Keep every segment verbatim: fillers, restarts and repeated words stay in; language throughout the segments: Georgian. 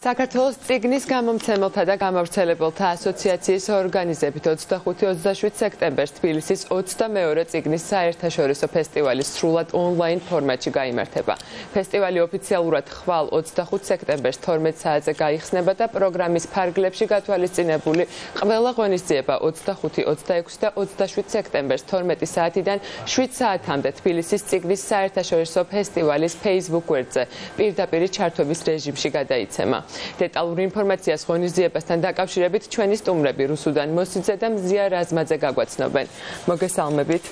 საქართველოს წიგნის გამომცემელთა და გამავრცელებელთა ასოციაციის ორგანიზებით ოცდახუთი ოცდაშვიდ სექტემბერს თბილისის ოცდამეორე წიგნის საერთაშორისო ფესტივალი სრულად ონლაინ ფორმატში გაიმართება. ფესტივალი ოფიციალურად ხვალ ოცდახუთ სექტემბერს თორმეტ საათზე გაიხსნება და პროგრამის ფარგლებში გათვალისწინებული ყველა ღონისძიება ოცდახუთი, ოცდაექვსი და ოცდაშვიდ სექტემბერს თორმეტი საათიდან შვიდ საათამდე თბილისის წიგნის საერთაშორისო ფესტივალის Facebook გვერდზე პირდაპირ ჩართვების რეჟიმში გადაიცემა. Დეტალური ინფორმაციას ღონისძიებასთან დაკავშირებით ჩვენი სტუმრები რუსუდან მოსიძე და მზია რაზმაძე გაგვაცნობენ. მოგესალმებით.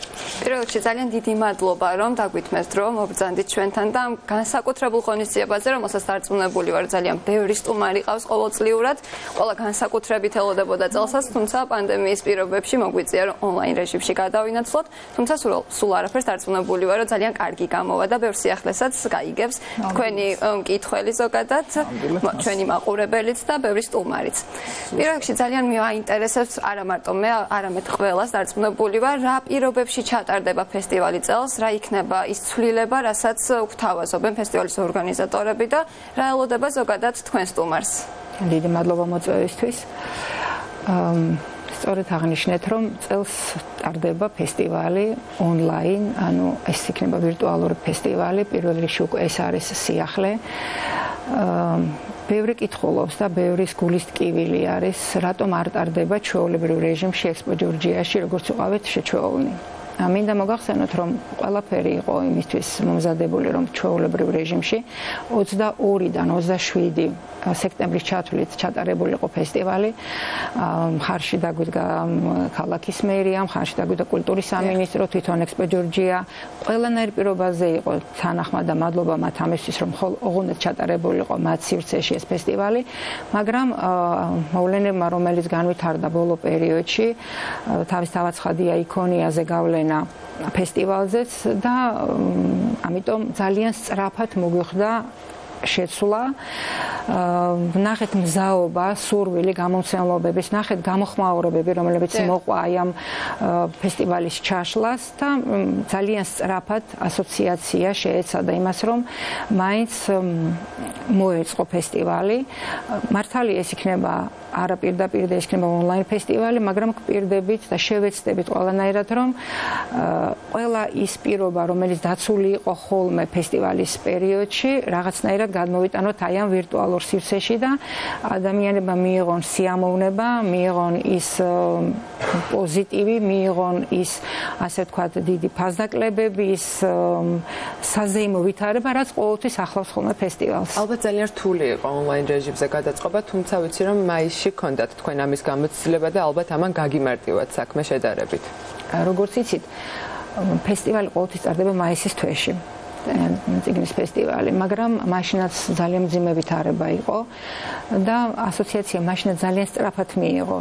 პირველ რიგში ძალიან დიდი მადლობა, რომ დაგვითმევთ დრო, მობრძანდით ჩვენთან და განსაკუთრებულ ღონისძიებაზე, რომელსაც დარწმუნებული ვარ, ძალიან ბევრი სტუმარი ყავს ყოველწლიურად. ყველა განსაკუთრებით ელოდებოდა წელსაც, თუმცა პანდემიის პირობებში მოგვიწია, რომ ონლაინ რეჟიმში გადავინაცვლოთ, თუმცა სულ არაფერს დარწმუნებული ვარ, რომ ძალიან კარგი გამოვა და ბევრ სიახლესაც გაიგებს თქვენი მკითხველი ზოგადად. ჩვენი მაყურებელიც და ბევრი სტუმარიც. პირველ რიგში ძალიან მეაინტერესებს არა მარტო მე, არამედ ყველას დარწმუნებული ვარ, რა პირობებში ჩატარდება ფესტივალი წელს, რა იქნება ის ცვლილება, რასაც გვთავაზობენ ფესტივალის ორგანიზატორები და რა ელოდება ზოგადად თქვენ სტუმარს. დიდი მადლობა მოწვევისთვის. სწორედ აღნიშნეთ, რომ წელს ტარდება ფესტივალი ონლაინ, ანუ ეს იქნება ვირტუალური ფესტივალი, პირველ რიგში უკვე ეს არის სიახლე. ბევრი კითხულობს და ბევრის გულის ტკივილი არის, რატომ არ ტარდება ჩვეულებრივ რეჟიმში ექსპო ჯორჯიაში, როგორც ვიყავით შეჩვეულნი. მინდა მოგახსენოთ, რომ ყველაფერი იყო იმისთვის მომზადებული, რომ ჩვეულებრივ რეჟიმში ოცდაორიდან ოცდაშვიდი სექტემბრის ჩათვლით ჩატარებული იყო ფესტივალი. მხარში დაგვიდგა ქალაქის მერია, მხარში დაგვიდგა კულტურის სამინისტრო, თვითონ ექსპო ჯორჯია. ყველანაირ პირობაზე იყო თანახმად და მადლობა მათ ამისთვის, რომ ოღონდ ჩატარებული იყო მათ სივრცეში ეს ფესტივალი, მაგრამ მოვლენებმა, რომელიც განვითარდა ბოლო პერიოდში, თავისთავად ცხადია იქონიაზე გავლენა ფესტივალზეც და ამიტომ ძალიან სწრაფად მოგვიხდა შეცვლა, ნახეთ მზაობა, სურვილი გამომცემლობების, ნახეთ გამოხმაურებები, რომლებიც მოყვა აი ამ ფესტივალის ჩაშლას და ძალიან სწრაფად ასოციაცია შეეცადა იმას, რომ მაინც მოეწყო ფესტივალი. მართალია ეს იქნება არა პირდაპირ და ეს იქნება ონლაინ ფესტივალი, მაგრამ გვპირდებით და შევეცდებით ყველანაირად, რომ ყველა ის პირობა, რომელიც დაცული იყო ხოლმე ფესტივალის პერიოდში, რაღაცნაირად გადმოვიტანოთ აი ამ ვირტუალურ სივრცეში და ადამიანებმა მიიღონ სიამოვნება, მიიღონ ის პოზიტივი, მიიღონ ის, ასე ვთქვათ, დიდი ფასდაკლებები, ის საზეიმო ვითარება, რაც ყოველთვის ახლავს ხოლმე ფესტივალს. ალბათ ძალიან რთული იყო ონლაინ რეჟიმზე გადაწყობა, თუმცა ვიცი, რომ მაისში გქონდათ თქვენ ამის გამოცდილება და ალბათ ამან გაგიმარტივათ საქმე შედარებით. როგორც იცით, ფესტივალი ყოველთვის ტარდება მაისის თვეში. წიგნის ფესტივალი, მაგრამ მაშინაც ძალიან მძიმე ვითარება იყო და ასოციაცია მაშინაც ძალიან სწრაფად მიიღო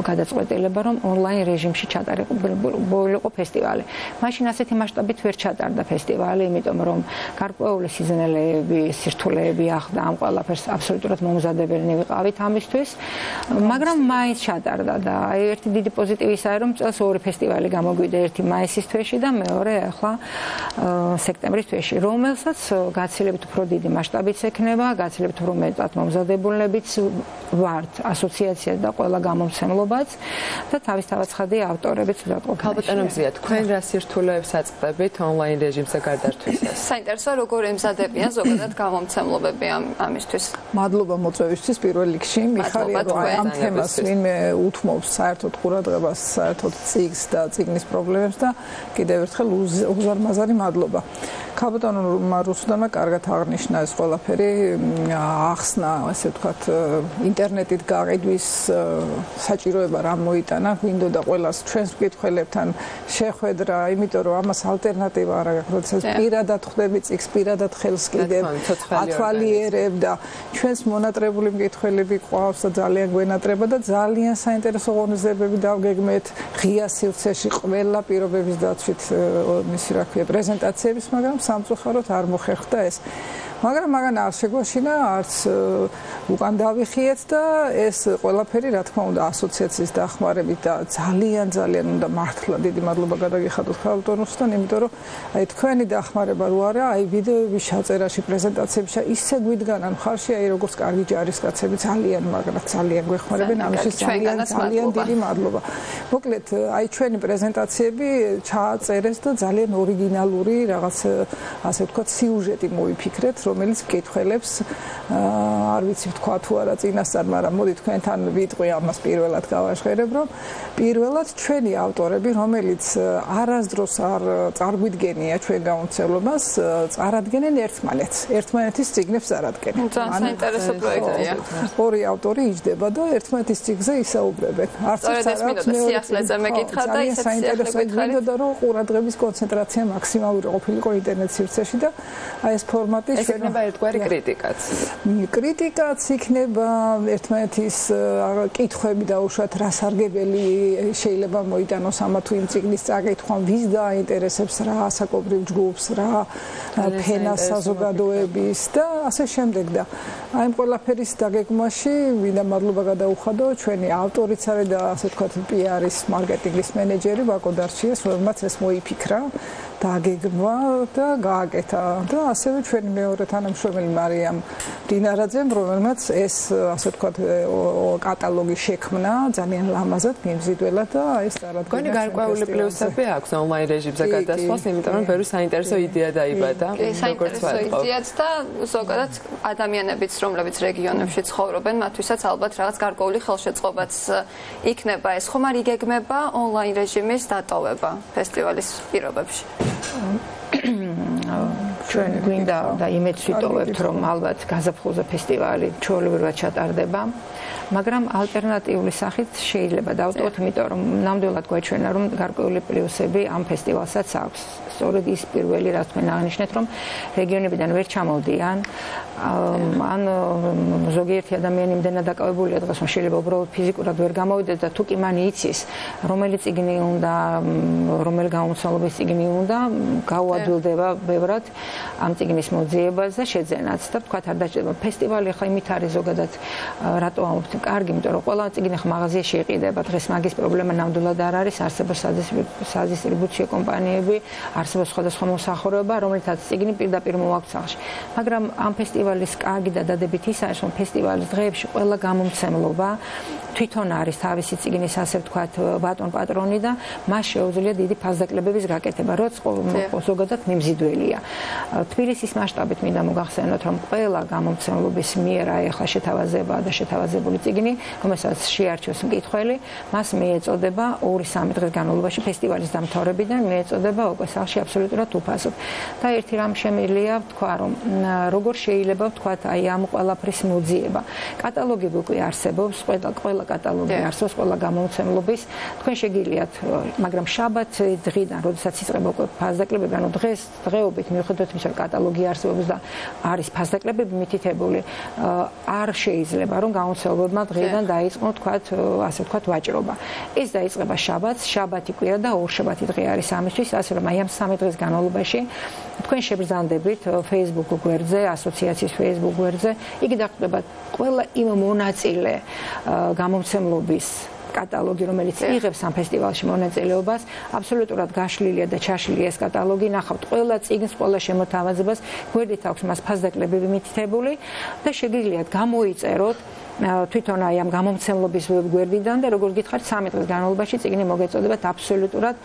გადაწყვეტილება, რომ ონლაინ რეჟიმში ჩატარებულიყო ფესტივალი. მაშინ ასეთი მასშტაბით ვერ ჩატარდა ფესტივალი, იმიტომ რომ გარკვეული სიზნელეები, სირთულეები ახდა ამ ყველაფერს აბსოლუტურად მომზადებელნი ვიყავით ამისთვის, მაგრამ მაინც ჩატარდა და აი ერთი დიდი პოზიტივი ისაა, რომ წელს ორი ფესტივალი გამოგვიდა, ერთი მაისის თვეში და მეორე ახლა სექტემბრის თვეში, რომელსაც გაცილებით უფრო დიდი მასშტაბიც ექნება, გაცილებით უფრო მეტად მომზადებულებიც ვართ ასოციაცია და ყველა გამომცემლობაც და თავისთავად ცხადია ავტორებიც უდატყოფილ. ქალბატონო მზია, თქვენ რა სირთულეებს აწყდებით ონლაინ რეჟიმზე გარდართვისას? საინტერესოა, როგორ ემზადებიან ზოგადად გამომცემლობები ამისთვის. მადლობა მოწვევისთვის პირველ რიგში. მიხარია, რომ ამ თემას ვინმე უთმობს საერთოდ ყურადღებას, საერთოდ წიგნს და წიგნის პრობლემებს და კიდევ ერთხელ უზარმაზარი მადლობა. ქალბატონმა რუსუდანმა კარგად აღნიშნა ეს ყველაფერი, ახსნა, ასე ვთქვათ, ინტერნეტით გაყიდვის საჭიროება რა მოიტანა, გვინდოდა ყველას ჩვენს მკითხველებთან შეხვედრა, იმიტომ რომ ამას ალტერნატივა არ აქვს, როდესაც პირადად ხვდები წიგნს, პირადად ხელს კიდევ ათვალიერებ და ჩვენს მონატრებული მკითხველები ყავს და ძალიან გვენატრება და ძალიან საინტერესო ღონისძიებები დავგეგმეთ ღია სივრცეში ყველა პირობების დაცვით მისი რა ქვია პრეზენტაციების, მაგრამ სამწუხაროდ არ მოხერხდა ეს. მაგრამ მაგან არ შეგვაშინა, არც უკან დავიხიეთ და ეს ყველაფერი რა თქმა უნდა ასოციაციის დახმარებით და ძალიან ძალიან უნდა მართლა დიდი მადლობა გადაგიხადოთ ქალბატონოსთან, იმიტომ რომ აი თქვენი დახმარება რო არა, აი ვიდეოების ჩაწერაში, პრეზენტაციებში ისე გვიდგანან მხარში, აი როგორც კარგი ჯარისკაცები ძალიან მაგრად ძალიან გვეხმარებენ, ამისთვის ძალიან ძალიან დიდი მადლობა. მოკლედ, აი ჩვენი პრეზენტაციები ჩააწერეს და ძალიან ორიგინალური რაღაც ასე ვთქვათ სიუჟეტი მოიფიქრეთ, რომელიც მკითხველებს არ ვიცი თქვა თუ არა წინასწარ, მაგრამ მოდი თქვენთან ვიტყვი ამას პირველად გავაჟღერებ, რომ პირველად ჩვენი ავტორები, რომელიც არასდროს არ წარგვიდგენია ჩვენ გამომცემლობას, წარადგენენ ერთმანეთს, ერთმანეთის წიგნებს წარადგენენ. ძალიან საინტერესო პროექტია. ორი ავტორი იჯდება და ერთმანეთის წიგნზე ისაუბრებენ. არც ის არ აქვს სიახლეზე მეკითხა და ისეთ საინტერესო გინდოდა რომ ყურადღების კონცენტრაცია მაქსიმალური ყოფილიყო ინტერნეტ სივრცეში და აი ეს ფორმატი ჩვენ იქნება ერთგვარი კრიტიკაც. კრიტიკაც იქნება ერთმანეთის კითხვები დაუშვათ რა სარგებელი შეიძლება მოიტანოს ამა თუ იმ წიგნის წაკითხვა, ვის დააინტერესებს, რა ასაკობრივ ჯგუფს, რა ფენას საზოგადოების და ასე შემდეგ და აი ამ ყველაფერის დაგეგმვაში მინდა მადლობა გადაუხადო ჩვენი ავტორიც არის და ასე ვთქვათ პი-არის მარკეტინგის მენეჯერი ვაკო დარჩიას, რომელმაც ეს მოიფიქრა დაგეგმვა და გააკეთა და ასევე ჩვენი მეორე თანამშრომელი მარიამ დინარაძემ, რომელმაც ეს ასე ვთქვათ კატალოგი შექმნა ძალიან ლამაზად, მიმზიდველად და ეს წარადგინა. გონი გარკვეული პლუსები აქვს ონლაინ რეჟიმზე გადასვლას, იმიტომ რომ ბევრი საინტერესო იდეა დაიბადა. საინტერესო იდეაც და ზოგადად ადამიანებიც, რომლებიც რეგიონებში ცხოვრობენ, მათთვისაც ალბათ რაღაც გარკვეული ხელშეწყობაც იქნება. ეს ხომ არ იგეგმება ონლაინ რეჟიმის დატოვება ფესტივალის პირობებში? ჩვენ გვინდა და იმედს ვიტოვებთ, რომ ალბათ გაზაფხულზე ფესტივალი ჩვეულებრივად ჩატარდება, მაგრამ ალტერნატიული სახით შეიძლება დავტოვოთ, იმიტომ რომ ნამდვილად გვაჩვენა, რომ გარკვეული პლუსები ამ ფესტივალსაც აქვს. სწორედ ის პირველი, რაც თქვენ აღნიშნეთ, რომ რეგიონებიდან ვერ ჩამოვდიან, ან ზოგიერთი ადამიანი იმდენად დაკავებულია დღეს, რომ შეიძლება უბრალოდ ფიზიკურად ვერ გამოვიდეს და თუ კი მან იცის, რომელი წიგნი უნდა, რომელი გამომცემლობის წიგნი უნდა, გაუადვილდება ბევრად ამ წიგნის მოძიებას და შეძენაც და თქვათ არ დაჭირდება. ფესტივალი ხა იმით არის ზოგადად რატო ამბობთ კარგი, იმიტომ რომ ყველა წიგნი ხა მაღაზიაში იყიდება. დღეს მაგის პრობლემა ნამდვილად არ არის, არსებობს სადისტრიბუციო კომპანიები, არსებობს სხვადასხვა მოსახურეობა, რომელთაც წიგნი პირდაპირ მოაქვს სახლში. მაგრამ ამ ფესტივალის კარგი და დადებით ის არის, რომ ფესტივალის დღეებში ყველა გამომცემლობა თვითონ არის თავისი წიგნის ასე ვთქვათ ბატონ პატრონი და მას შეუძლია დიდი ფასდაკლებების გაკეთება, რაც ზოგადად მიმზიდველია. თბილისის მასშტაბით მინდა მოგახსენოთ, რომ ყველა გამომცემლობის მიერ აეხლა შეთავაზება და შეთავაზებული წიგნი, რომელსაც შეარჩევს მკითხველი, მას მიეწოდება ორი-სამი დღის განმავლობაში ფესტივალის დამთავრებიდან მიეწოდება უკვე სახლში აბსოლუტურად უფასოდ. და ერთი რამ შემიძლია ვთქვა, რომ როგორ შეიძლება ვთქვათ აი ამ ყველაფრის მოძიება. კატალოგები უკვე არსებობს, ყველა ყველა კატალოგი არსებობს, ყველა გამომცემლობის. თქვენ შეგიძლიათ, მაგრამ შაბათს დღიდან, როდესაც იწყება უკვე ფასდაკლებები, ანუ დღეს დღეობით მიუხედავად იმისა, რომ კატალოგი არსებობს და არის ფასდაკლებები მითითებული, არ შეიძლება რომ გამომცემლებმა დღიდან დაიწყონ თქვათ, ასე ვთქვათ, ვაჭრობა. ეს დაიწყება შაბათს, შაბათი კვირა და ორშაბათი დღე არის ამისთვის, ასე რომ აი ამ სამი დღის განმავლობაში თქვენ შეგრძანდებით Facebook გვერდზე, ასოციაციის Facebook გვერდზე, იგი დახვდება ყველა იმ მონაწილე გამომცემლობის კატალოგი, რომელიც იღებს ამ ფესტივალში მონაწილეობას, აბსოლუტურად გაშლილია და ჩაშლილია ეს კატალოგი, ნახავთ ყველა წიგნს, ყველა შემოთავაზებას, გვერდით აქვს მას ფასდაკლებები მითითებული და შეგიძლიათ გამოიწეროთ თვითონ აი ამ გამომცემლობის გვერდიდან და როგორც გითხარით, სამი დღის განმავლობაში წიგნი მოგეწოდებათ აბსოლუტურად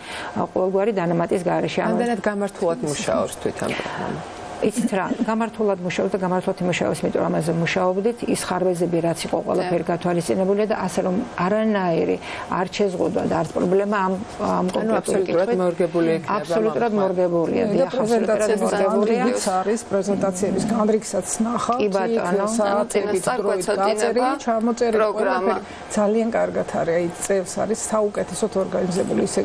ყოველგვარი დანამატის გარეშე. ამდენად გამართულად მუშაობს თვითონ პროგრამა. იცით რა, გამართულად მუშაობს და გამართულად იმუშავებს, იმიტომ რომ ამაზე მუშაობდით, ის ხარვეზები რაც იყო ყველაფერი გათვალისწინებულია და ასე რომ არანაირი არ შეზღუდვა და არც პრობლემა ამ ამ კონკრეტულ კითხვით მორგებული იქნება. აბსოლუტურად მორგებულია. და პრეზენტაციის განრიგიც არის, პრეზენტაციების განრიგსაც ნახავთ. კი ბატონო, წელიწადების დროით დაწერილი, ჩამოწერილი პროგრამა ძალიან კარგად არის, აი წელს არის საუკეთესოდ ორგანიზებული, ისე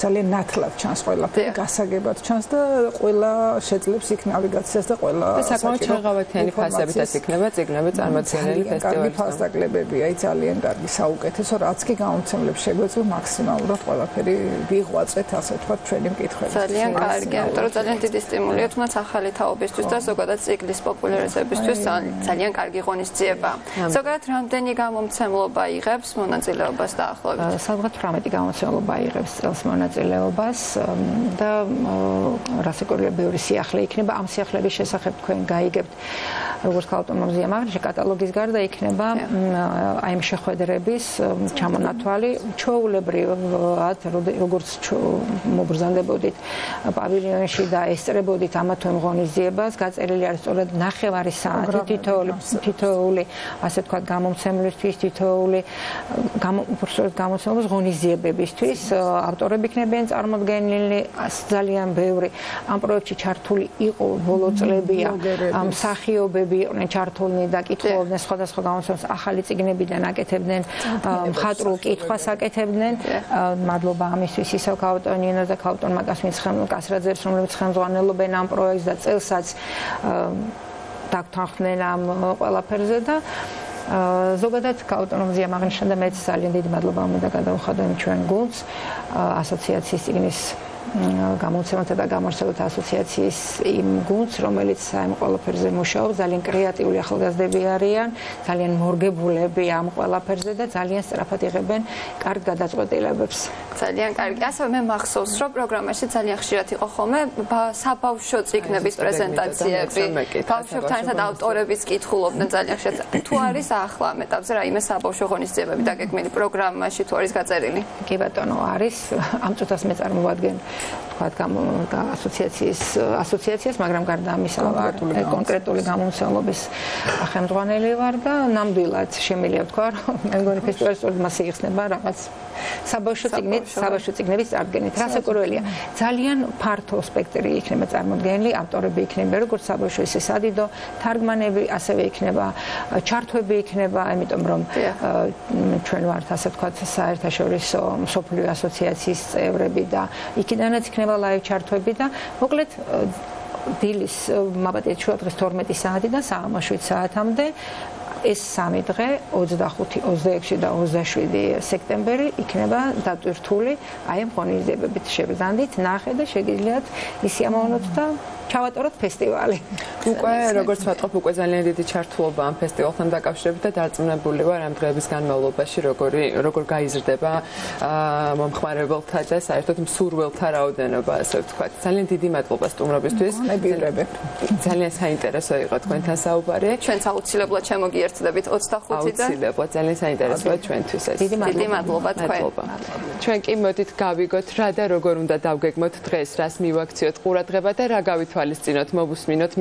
ძალიან ნათლად ჩანს ყველაფერი, გასაგებად ჩანს და ყველა შეძლებს იქ ნავიგაცია დელეგაციას და ყველა საკმაოდ ჩაღავათიანი ფასებითაც იქნება წიგნები წარმოდგენილი ფესტივალის. ფასდაკლებები, აი ძალიან კარგი საუკეთესო, რაც კი გამომცემლებს შეგვეძლო მაქსიმალურად ყველაფერი ვიღვაწეთ, ასე ვთქვათ, ჩვენი მკითხვები. ძალიან კარგი, ამიტომ ძალიან დიდი სტიმულია თუმცა ახალი თაობისთვის და ზოგადად ციკლის პოპულარიზებისთვის ძალიან კარგი ღონისძიება. ზოგადად რამდენი გამომცემლობა იღებს მონაწილეობას დაახლოებით? სადღაც თვრამეტი გამომცემლობა იღებს წელს მონაწილეობას და რასაკურველია ბევრი სიახლე იქნება. ამ სიახლეების შესახებ თქვენ გაიგებთ როგორც ავტონომიზმის ამაღლში კატალოგის გარდა იქნება აი ამ შეხვედრების ჩამონათვალი ჩვეულებრივად როგორც მობრძანდებოდით პავილიონში და ესწრებოდით ამა თუ იმ ღონისძიებას გაწერილი არის სწორედ ნახევარი საათი თითოეული თითოეული ასე ვთქვათ გამომცემლისთვის თითოეული გამომცემლობის ღონისძიებებისთვის ავტორები იქნებიან წარმოდგენილი ძალიან ბევრი ამ პროექტში ჩართული იყო ბოლო წლებია ამ მსახიობები იყვნენ ჩართულნი და კითხულობდნენ სხვადასხვა გამოცემას ახალი წიგნებიდან აკეთებდნენ მხატვრულ კითხვას აკეთებდნენ მადლობა ამისთვის ისევ ქაუტონ ნინოს და ქაუტონ მაკასმის კასრაძეებს რომლებიც ხელმძღვანელობენ ამ პროექტს და წელსაც დაგთანხმდნენ ამ ყველაფერზე და ზოგადად ავტონომიზმის ამაღლიშთან და მეც ძალიან დიდი მადლობა უნდა გადავხადო იმ ჩვენ გუნდს ასოციაციის წიგნის გამომცემელთა და გამარჯვებულთა ასოციაციის იმ გუნდს, რომელიც ამ ყველაფერზე მუშაობს, ძალიან კრეატიული ახალგაზრდები არიან, ძალიან მორგებულები ამ ყველაფერზე და ძალიან სწრაფად იღებენ კარგ გადაწყვეტილებებს. ძალიან კარგი. ასევე მე მახსოვს, რომ პროგრამაში ძალიან ხშირად იყო ხოლმე საბავშვო წიგნების პრეზენტაციები. ბავშვებთან ერთად ავტორების კითხულობდნენ ძალიან ხშირად. თუ არის ახლა ამ ეტაპზე რაიმე საბავშვო ღონისძიებები დაგეგმილი პროგრამაში თუ არის გაწერილი? კი ბატონო, არის. ამ წუთას მე წარმოვადგენ თქვათ ასოციაციის ასოციაციას, მაგრამ გარდა ამისა კონკრეტული გამომცემლობის ხელმძღვანელი ვარ და ნამდვილად შემიძლია ვთქვა, რომ მე მგონი ფესტივალის სწორედ მას იხსნება რაღაც საბავშვო წიგნით, საბავშვო წიგნების წარდგენით. რასაკურველია, ძალიან ფართო სპექტრი იქნება წარმოდგენილი, ავტორები იქნება როგორც საბავშვო, ისე სადიდო, თარგმანები, ასევე იქნება ჩართვები იქნება, იმიტომ რომ ჩვენ ვართ ასე ვთქვათ საერთაშორისო მსოფლიო ასოციაციის წევრები და იქიდანაც იქნება ლაივ ჩართვები და მოკლედ დილის მაბატე შუადღის თორმეტი საათიდან საღამოს შვიდ საათამდე ეს სამი დღე ოცდახუთი, ოცდაექვსი და ოცდაშვიდი სექტემბერი იქნება დატვირთული აი ამ ღონისძიებებით შეგრძანდით, ნახეთ და შეგიძლიათ ისიამოვნოთ და ჩავატაროთ ფესტივალი. უკვე როგორც ვატყობ, უკვე ძალიან დიდი ჩართულობა ამ ფესტივალთან დაკავშირებით და დარწმუნებული ვარ ამ დღეების განმავლობაში როგორი როგორ გაიზრდება მომხმარებელთა და საერთოდ მსურველთა რაოდენობა, ასე ვთქვათ. ძალიან დიდი მადლობა სტუმრობისთვის. ძალიან საინტერესო იყო თქვენთან საუბარი. ჩვენც აუცილებლად შემოგიერთდებით ოცდახუთიდან. აუცილებლად ძალიან საინტერესოა ჩვენთვის ეს. დიდი მადლობა თქვენ. ჩვენ კი მოდით გავიგოთ რა და როგორ უნდა დავგეგმოთ დღეს, რას მივაქციოთ ყურადღება და რა გავითვალისწინოთ, მოგუსმინოთ.